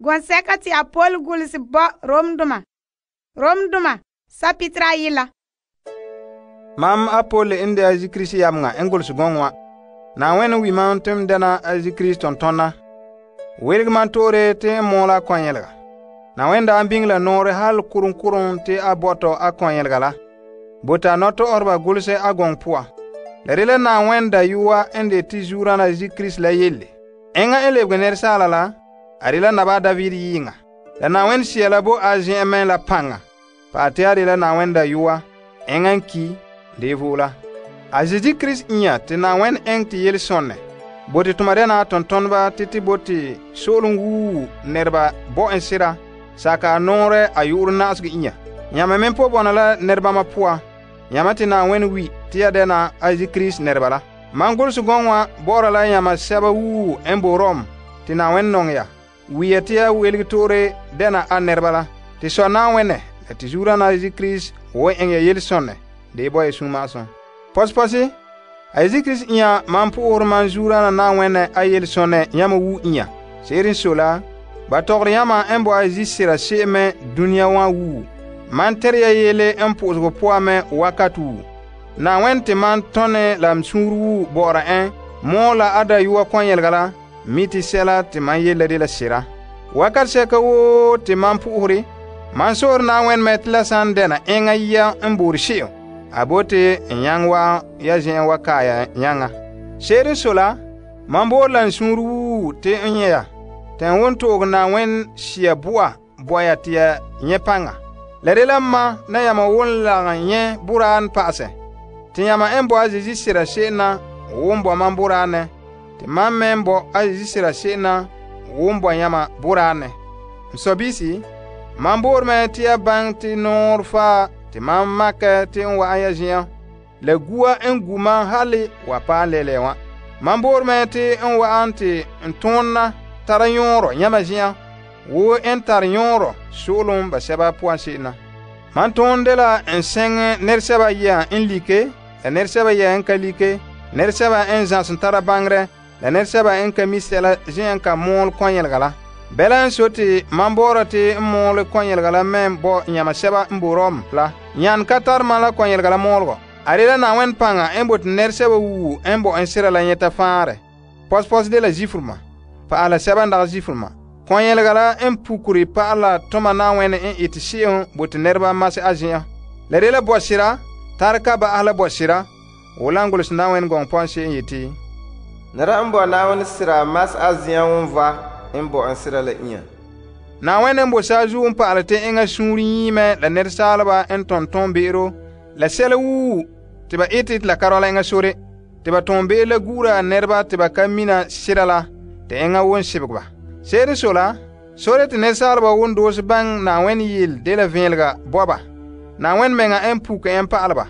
Gɔnsɛka te Apol gulese bo Romdoma sapitera ayila. Mam Apol n de Azi Krista yameŋa n golse gɔŋɔ wa. Na'ayenɛ wi mam te m dɛna Azi Krista tontonna. Welege man toore te n mɔɔla kɔnyelega. Na'ayenɛ daa biŋe la nɔɔrɛ hal kurum te a bɔtɔ a kɔnyelega la. Bota nɔtɔ'ɔreba golse a gɔŋɔ poa. La rela Na'ayenɛ dayɔa n de te zuurana Azi Krista la yelle. Enŋa n lebege nɛresaala la, a rela naba David yiŋa. La Na'ayenɛ sea la bo a zen'an mɛ la paŋa. Pa te a rela Na'ayenɛ dayɔa, enŋa n ki de vola. Azi Krista inya te Na'ayenɛ eŋɛ te yele sonne. Bote tuma dɛna tontoneba te bote so'olom wuu nɛreba bo en sera saka a nɔɔrɛ a yu'urɛ na'asegɔ inya. Yãma me po bɔna la nɛrebama poa. Yãma te Na'ayenɛ wi te ya dɛna Azi Krista nɛreba la. Man golse gɔŋɔ wa bɔ'ɔra la yãma sɛba wuu n bo Rom te Na'ayenɛ nɔŋɛ ya. Wia te ya welege toore dɛna a nɛreba la. Te sɔ Na'ayenɛ la te zuurana Azi Krista wo eŋɛ ya yele sonne de bo ya sũma'asum. Pɔsepɔse, Azi Krista inya man po'ohore man zuurana Na'ayenɛ a yele sonne yãma wu inya. Se'ere n sɔe la, ba tɔgɔre yãma n bo Azi sera se'em mɛ dunia wa wuu. Man tɛre ya yele n po'osego poa mɛ wakat wuu. Na'ayenɛ te man tɔne la m suunre wuu bɔ'ɔra en mɔɔ la a dayɔa kɔnyelega la, mi te sɛla te man yele de la sera. Wakat sɛka woo te man po'ohore, man so'ore Na'ayenɛ mɛ te la san dɛna enŋa yia n boore se'em, a bote n nyaŋɛ wa ya zen'an wa kaaya nyaŋa. Se'ere n sɔe la, man boore la n suunre wuu te n nyɛ ya, te n won to'oge Na'ayenɛ sea bo'a bo ya te ya nyɛ paŋa. La rela ma na yãma won lagom nyɛ boraan pa'asɛ. Te yãma n bo a Zeezi sera se'em na won bo man boraanɛ, te man me n bo a Zeezi sera se'em na won bo yãma boraanɛ. M sɔbiisi, man boore me te ya baŋɛ te nɔɔrɛ faa te man makɛ te n wa'an ya zen'an. La gua n gu man hali wa paɛ lɛlɛ wã. Man boore me te n wa'an te n tõonna tara yõorɔ yãma zen'an, wo n tare yõorɔ so'olom ba sɛba poan se'em na. Man tõon de la n sɛŋɛ nɛresɛba yɛa n like, la nɛresɛba yɛa n ka like, nɛresɛba n zãs n tara baŋerɛ, la nɛresɛba n ka mi sɛla zen'an ka mɔɔle kɔnyelega la. Bɛla n so te man boora te n mɔɔle kɔnyelega la mɛ bo yãma sɛba n bo Rom la. Yãn ka tare man la kɔnyelega la mɔɔlegɔ. A rela Na'ayenɛ paŋa n bote nɛresɛba wuu n bo n sera la nyɛta fãare. Pɔsepɔse de la zifurema, pa'ala sɛba n dagɛ zifurema. Kɔnyelega la n pukuri pa'ala toma Na'ayenɛ n ete se'em bote nɛreba mase a zen'an. La rela bɔsera, tare ka ba'ahe la bɔsera, wo lan golse Na'ayenɛ gɔŋɔ pɔn se'em yeti, nɛra n bo Na'ayenɛ sera mas a zen'an won va n bo n sera la inya. Na'ayenɛ n bo saazuo n pa'ale te eŋa suunre yiimɛ la nɛresaaleba n tɔn be'ero, la sɛla wuu te ba ete te la ka rɔla eŋa sore, te ba tɔn be'ero la guura nɛreba te ba ka mina sera la, te eŋa won sebege ba. Se'ere n sɔe la, sore te nɛresaaleba won doose baŋ Na'ayenɛ yel de la vẽelega bɔba. Na'ayenɛ meŋa n puke n pa'ale ba.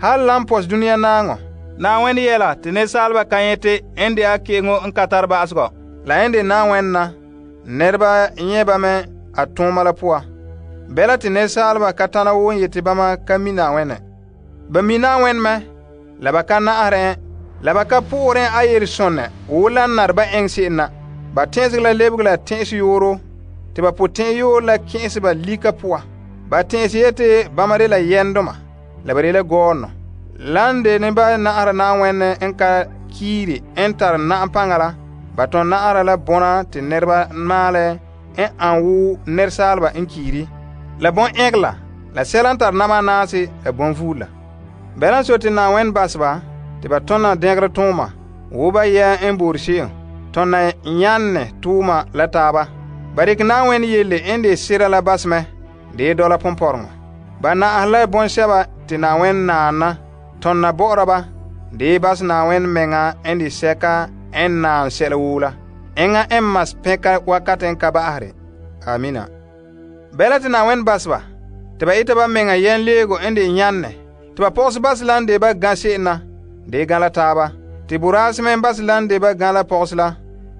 Hal la n pɔs dunia naaŋɔ, Na'ayenɛ yɛla te nɛresaaleba ka nyɛte n de a keŋo n ka tare ba'asegɔ. La n de Na'ayenɛ na, nɛreba nyɛ ba mɛ a tõoma la poa. Bɛla te nɛresaaleba ka tana woo n yete bama ka mi Na'ayenɛ. Ba mi Na'ayenɛ mɛ, la ba ka na'asere en, la ba ka po'ore a yele sõnne wo la n nare ba eŋɛ se'em na. Ba tẽesege la lebege la tẽ'es yooro, te ba potẽ yoor la kẽ'ese ba lika poa. Ba tẽes yete bama de la yɛndoma, la ba de la gɔɔnɔ. Lan de ne ba na'ara Na'ayenɛ n ka kiire n tare na'am paŋa la, ba tõn na'ara la bõna te nɛreba maalɛ n an wo nɛresaaleba n kiiri. La bõn ɛgela, la sɛla n tare nama naase la bõn vuula. Bɛla n so te Na'ayenɛ baseba, te ba tõna dɛgere tõoma, wo ba yɛa n boore se'em, tõna yãnne tʋʋma la taaba. Ba dikɛ Na'ayenɛ yelle n de sera la basemɛ, de dɔla pʋmpɔreŋɔ. Ba na'asɛ la bõn-sɛba te Na'ayenɛ naana, tõnna bɔ'ɔra ba, de bas Na'ayenɛ meŋa n de sɛka n naan sɛla woo la. Eŋa n mas pẽka wakat n ka ba'asre. Amina. Bɛla te Na'ayenɛ baseba, te ba ita ba meŋa yɛn leego n de yãnne, te ba pɔgse bas la n de ba gã se'em na, de gã la taaba. Te boraase me bas la n de ba gã la pɔgse la,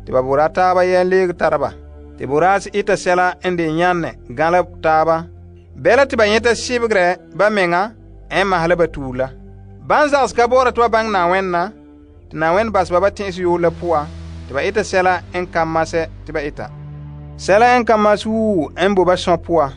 te ba bora taaba yɛn leeg tara ba. Te boraase ita sɛla n de yãnne gã la taaba. Bɛla te ba yẽta sɩbgrɛ ba meŋa n mas la ba tuur la. Ban zags ka bɔɔra tɩ ba bãng Na'ayenɛ na, tɩ Na'ayenɛ basba ba tẽes yoor la poa, tɩ ba ita sɛla n ka masɛ tɩ ba ita. Sɛla n ka mas wuu n bo ba sɔn poa,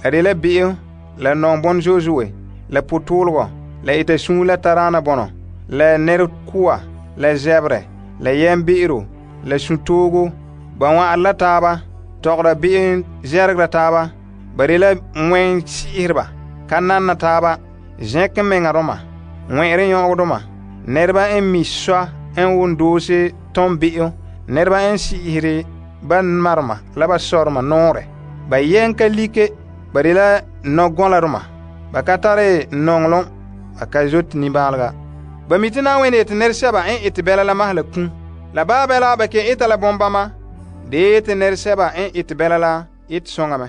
la de la be'em, la nɔŋbɔn zo'e, la potɔɔlegɔ, la ita suun la tadaana bɔnɔ, la nɛrekoa, la zɛberɛ, la yɛmbe'ero, la suntoogo. Ba wa'an la taaba, tɔgɔra be'em zɛregera taaba. Ba de la ŋmɛn si'ireba, ka nanna taaba, zɛnkɛ meŋadoma, ŋmɛ'ɛre nyɔgedoma, nɛreba n mi sɔ n won doose tom be'em, nɛreba n si'ihiri ba marema la ba sɔrema nɔɔrɛ. Ba yɛn ka like, ba de la nɔgɔladoma. Ba ka tare nɔŋlom, ba ka zote nimbaalega. Ba mi te Na'ayenɛ yete nɛresɛba n ete bɛla la maha la kum. La baa bɛla ba ke eta la bɔmbama, de yete nɛresɛba n ete bɛla la ete soŋa mɛ.